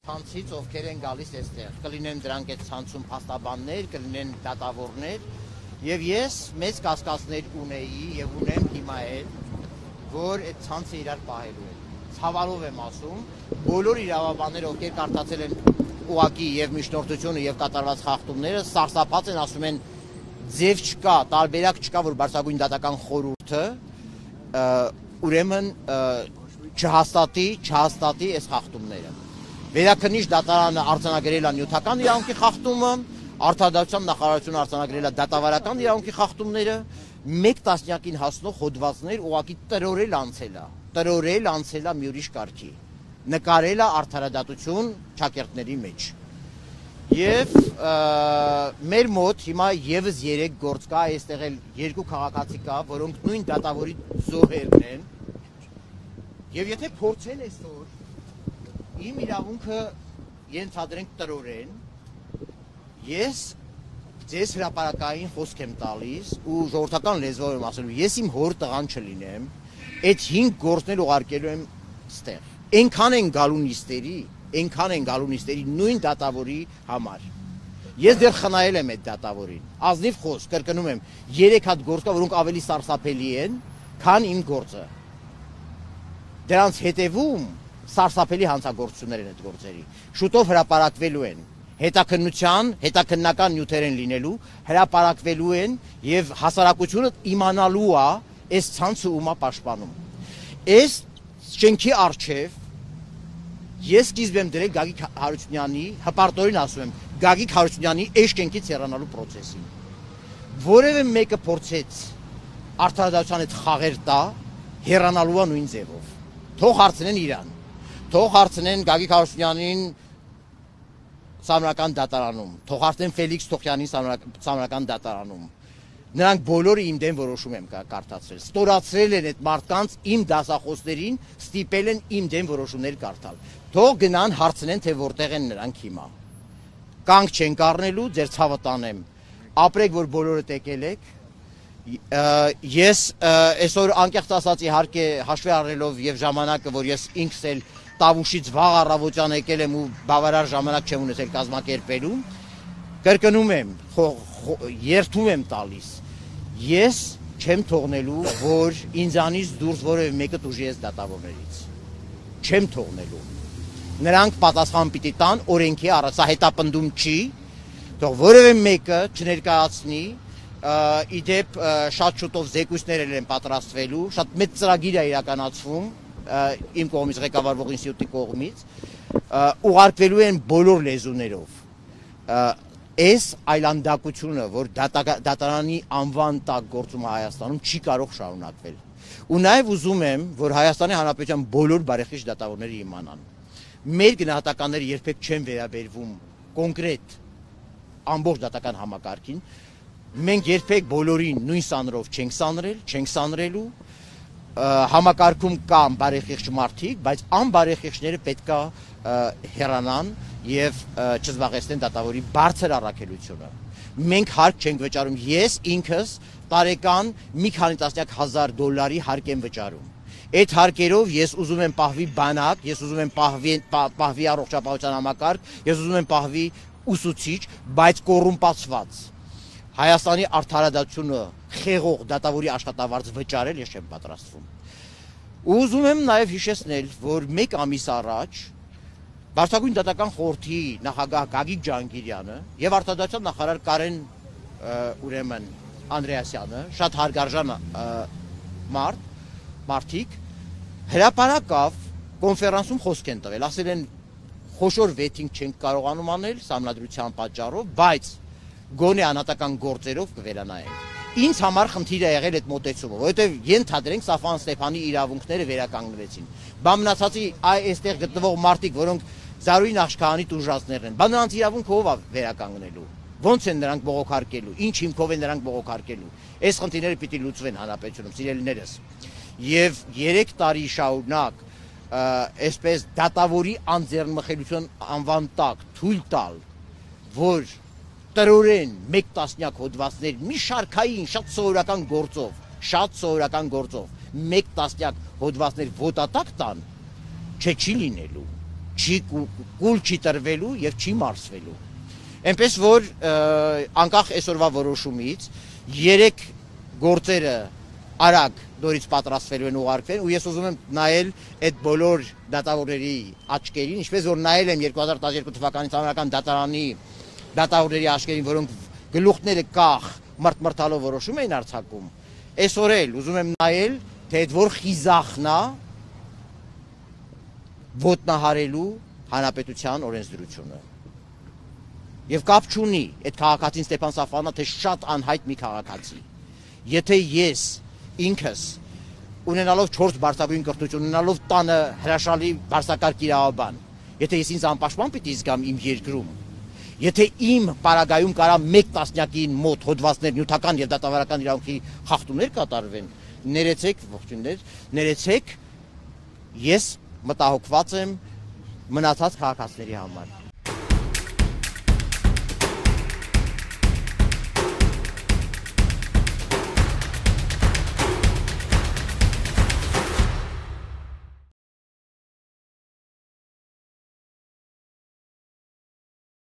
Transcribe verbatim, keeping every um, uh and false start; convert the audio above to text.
Ցանցից ովքեր են գալիս այստեղ, կլինեն դրանք այդ ցանցում փաստաբաններ, կլինեն դատավորներ, եւ ես մեծ կասկածներ ունեի եւ ունեմ հիմա էլ, որ այդ ցանցը իրար պահելու է։ Ցավալով եմ ասում, բոլոր իրավաբանները, ովքեր կարդացել են ուղակի եւ միջնորդությունը եւ կատարված խախտումները, սարսափած են, ասում են ձև չկա, տարբերակ չկա, որ բարձրագույն դատական խորհուրդը ուրեմն չհաստատի, չհաստատի այս խախտումները։ Վերաքննիչ դատարանը արձանագրել է նյութական իրավունքի խախտումը, Արդարադատության նախարարությունը արձանագրել է դատավարական իրավունքի խախտումները, մեկ տասնյակին հասնող հոդվածներ ուղղակի տրորել անցել է, տրորել անցել է մի ուրիշ կարգի, նկարել է արդարադատություն ճակերտների մեջ։ Եվ մեր մոտ հիմա եւս երեք գործ կա, այստեղ էլ երկու քաղաքացի կա, որոնք նույն դատավորի զոհերն են։ Եվ եթե փորձեն այսօր իմ իրավունքը ենթադրենք տրորեն, ես ձեզ հրապարակային խոսք եմ տալիս ու ժողովրդական լեզվով եմ ասելու, ես իմ հոր տղան չլինեմ, այդ հինգ գործներ ուղարկելու եմ ստեղ։ Այնքան են գալու նիստերի, այնքան են գալու նիստերի նույն դատավորի համար։ Ես դեռ խնայել եմ այդ դատավորին։ Ազնիվ խոսք, կրկնում եմ, երեք հատ գործ կա, որոնք ավելի սարսափելի են, քան իմ գործը։ Դրանց հետևում սարսափելի հանցագործություններ են այդ գործերի։ Շուտով հրապարակվելու են։ Հետաքննության, հետաքննական նյութեր են լինելու, հրապարակվելու են եւ հասարակությունը իմանալու է այս ցանցը ումա պաշտպանում։ Այս շենքի առջև ես սկիզբ եմ դրել Գագիկ Հարությունյանի, հպարտորեն ասում եմ, Գագիկ Հարությունյանի այս շենքից հեռանալու process-ին։ Որևէ մեկը փորձեց արդարադատության հետ խաղեր տա, հեռանալու է նույն ձևով։ Թող հարցնեն իրան, թող հարցնեն Գագիկ Հարությունյանին Սահմանական դատարանում, թող հարցնեն Ֆելիքս Թոխյանին Սահմանական դատարանում։ Նրանք բոլորը իմ դեմ որոշում եմ կարդացրել։ Ստորացրել են այդ մարդկանց իմ դասախոսներին, ստիպել են իմ դեմ որոշումներ կարդալ։ Թող գնան հարցնեն, թե որտեղ են նրանք հիմա։ Կանգ չեն կառնելու, ձեր ցավը տանեմ։ Ապրեք, որ բոլորը տեկել եք։ Ես այսօր անկեղծ ասած իհարկե հաշվի առնելով եւ ժամանակը, որ ես ինքս էլ Տավուշից վաղ առավոտյան եկել եմ ու բավարար ժամանակ չեմ ունեցել կազմակերպելու, կրկնում եմ, երթում եմ տալիս, ես չեմ թողնելու, որ ինձանից դուրս որևէ մեկը տուժի այս դատավորներից, չեմ թողնելու, նրանք պատասխան պիտի տան օրենքի առ, սա հետապնդում չի, թող որևէ մեկը չներկայացնի, իդեպ շատ շուտով զեկույցներ են պատրաստվելու, շատ մեծ ծրագիր է իրականացվում, իմ կողմից ղեկավարվող ինստիտուտի կողմից ուղարկվելու են բոլոր լեզուներով այս այլանդակությունը, որ դատարանի անվան տակ գործում է Հայաստանում, չի կարող շարունակվել։ Ու նաև ուզում եմ, որ Հայաստանի Հանրապետության բոլոր բարեխիղճ դատավորները իմանան։ Մեր գնահատականները երբեք չեն վերաբերվում կոնկրետ ամբողջ դատական համակարգին։ Մենք երբեք բոլորին նույն սանրով չենք սանրել, չենք սանրելու։ Համակարգում կան բարեխիղճ մարդիկ, բայց անբարեխիղճները պետք է հեռանան եւ չզբաղեցնեն դատավորի բարձր առաքելությունը։ Մենք հարկ չենք վճարում, ես ինքս տարեկան մի քանի տասնյակ հազար դոլարի հարկ եմ վճարում։ Այդ հարկերով ես ուզում եմ պահվի բանակ, ես ուզում եմ պահվի պահվի առողջապահության համակարգ, ես ուզում եմ պահվի ուսուցիչ, բայց կոռումպացված։ Հայաստանի արդարադատությունը խեղող դատավորի աշխատավարձ վճարել ես չեմ պատրաստվում։ Ուզում եմ նաև հիշեցնել, որ մեկ ամիս առաջ Բարձրագույն դատական խորհրդի նախագահ Գագիկ Ջհանգիրյանը եւ արդարադատության նախարար Կարեն ուրեմն Անդրեասյանը, շատ հարգարժան մարդ, մարդիկ հրապարակավ կոնֆերանսում խոսք են տվել, ասել են խոշոր վեթինգ չենք կարողանում անել սահմանադրության պատճառով, բայց գոնե անհատական գործերով կվերանայենք։ Ինձ համար խնդիր է եղել այդ մոտեցումը, որովհետև ենթադրենք Սաֆան Ստեփանի իրավունքները վերականգնվեցին։ Բա մնացածի այստեղ գտնվող մարդիկ, որոնք Զարուհի Նախշքահանի տուժածներն են, բա նրանց իրավունքը ով է վերականգնելու։ Ոնց են նրանք բողոքարկելու, ինչ հիմքով են նրանք բողոքարկելու։ Այս խնդիրները պիտի լուծվեն հանրապետությունում, սիրելիներս։ Եվ երեք տարի շարունակ այսպես դատավորի անձեռնմխելիության անվան տակ թույլ տալ, որ տրորեն մեկ տասնյակ հոդվածներ մի շարքային շատ սովորական գործով, շատ սովորական գործով մեկ տասնյակ հոդվածներ ոտատակ տան, չէ չի լինելու։ չի կուլ չի տրվելու եւ չի մարսվելու։ Այնպես որ անկախ այսօրվա որոշումից երեք գործերը արագ դորից պատրաստվելու են ուղարկվել ու ես ուզում եմ նայել այդ բոլոր դատավորների աչքերին, ինչպես որ նայել եմ երկու հազար տասներկու թվականի ցամաքական դատարանի դատավորների աչքերին, որոնք գլուխները կախ մրթմրթալով որոշում էին արձակում, այսօր էլ ուզում եմ նայել, թե այդ որ խիզախն է ոտնահարելու հանրապետության օրենսդրությունը։ Եվ կապ չունի այդ քաղաքացին Ստեփան Սաֆարյանը, թե շատ անհայտ մի քաղաքացի։ Եթե ես ինքս ունենալով չորս բարձրագույն կրթություն, ունենալով տանը հրաշալի բարձրակարգ իրավաբան, եթե ես ինձ անպաշտպան պիտի զգամ իմ երկրում, եթե իմ պարագայում կարա մեկ տասնյակին մոտ հոդվածներ նյութական եւ դատավարական իրավունքի խախտումներ կատարվեն, ներեցեք, ողջույններ, ներեցեք, ես մտահոգված եմ մնացած քաղաքացիների համար։